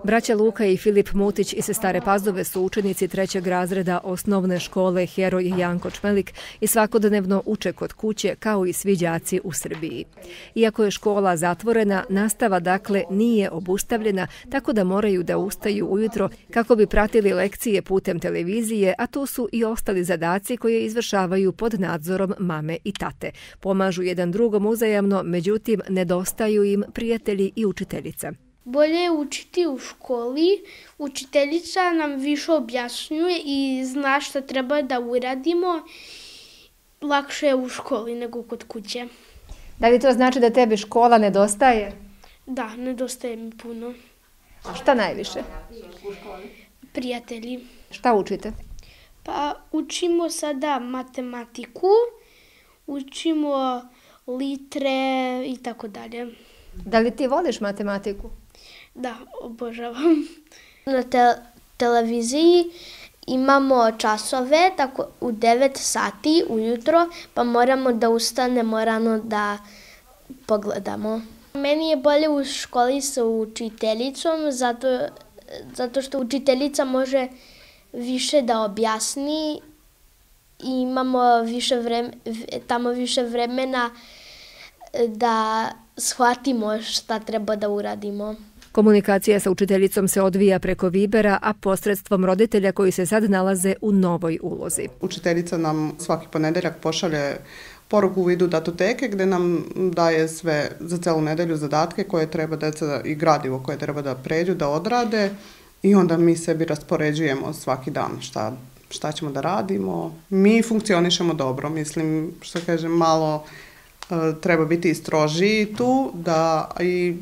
Braća Luka i Filip Mutić iz Stare Pazove su učenici 3. razreda osnovne škole Heroj Janko Čmelik i svakodnevno uče kod kuće kao i svi đaci u Srbiji. Iako je škola zatvorena, nastava dakle nije obustavljena, tako da moraju da ustaju ujutro kako bi pratili lekcije putem televizije, a tu su i ostali zadaci koje izvršavaju pod nadzorom mame i tate. Pomažu jedan drugom uzajamno, međutim nedostaju im prijatelji i učiteljica. Bolje je učiti u školi, učiteljica nam više objašnjuje i zna šta treba da uradimo. Lakše je u školi nego kod kuće. Da li to znači da tebi škola nedostaje? Da, nedostaje mi puno. A šta najviše? Prijatelji. Šta učite? Pa učimo sada matematiku, učimo litre i tako dalje. Da li ti voliš matematiku? Da, obožavam. Na televiziji imamo časove tako u 9 sati ujutro, pa moramo da ustanemo rano da pogledamo. Meni je bolje u školi sa učiteljicom, zato što učiteljica može više da objasni i imamo tamo više vremena da shvatimo šta treba da uradimo. Komunikacija sa učiteljicom se odvija preko Vibera, a posredstvom roditelja koji se sad nalaze u novoj ulozi. Učiteljica nam svaki ponedeljak pošalje poruku u vidu datoteke gdje nam daje sve za celu nedelju zadatke koje treba deca i gradivo koje treba da pređu, da odrade i onda mi sebi raspoređujemo svaki dan šta ćemo da radimo. Mi funkcionišemo dobro, mislim, što kažem, malo treba biti i strožiji tu, da i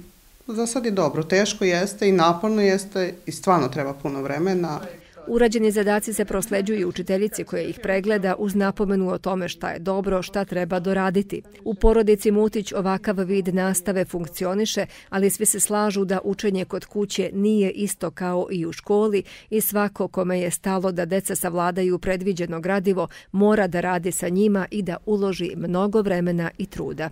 za sad je dobro. Teško jeste i naporno jeste i stvarno treba puno vremena. Urađeni zadaci se prosleđuju učiteljici koja ih pregleda uz napomenu o tome šta je dobro, šta treba doraditi. U porodici Mutić ovakav vid nastave funkcioniše, ali svi se slažu da učenje kod kuće nije isto kao i u školi i svako kome je stalo da deca savladaju predviđeno gradivo mora da radi sa njima i da uloži mnogo vremena i truda.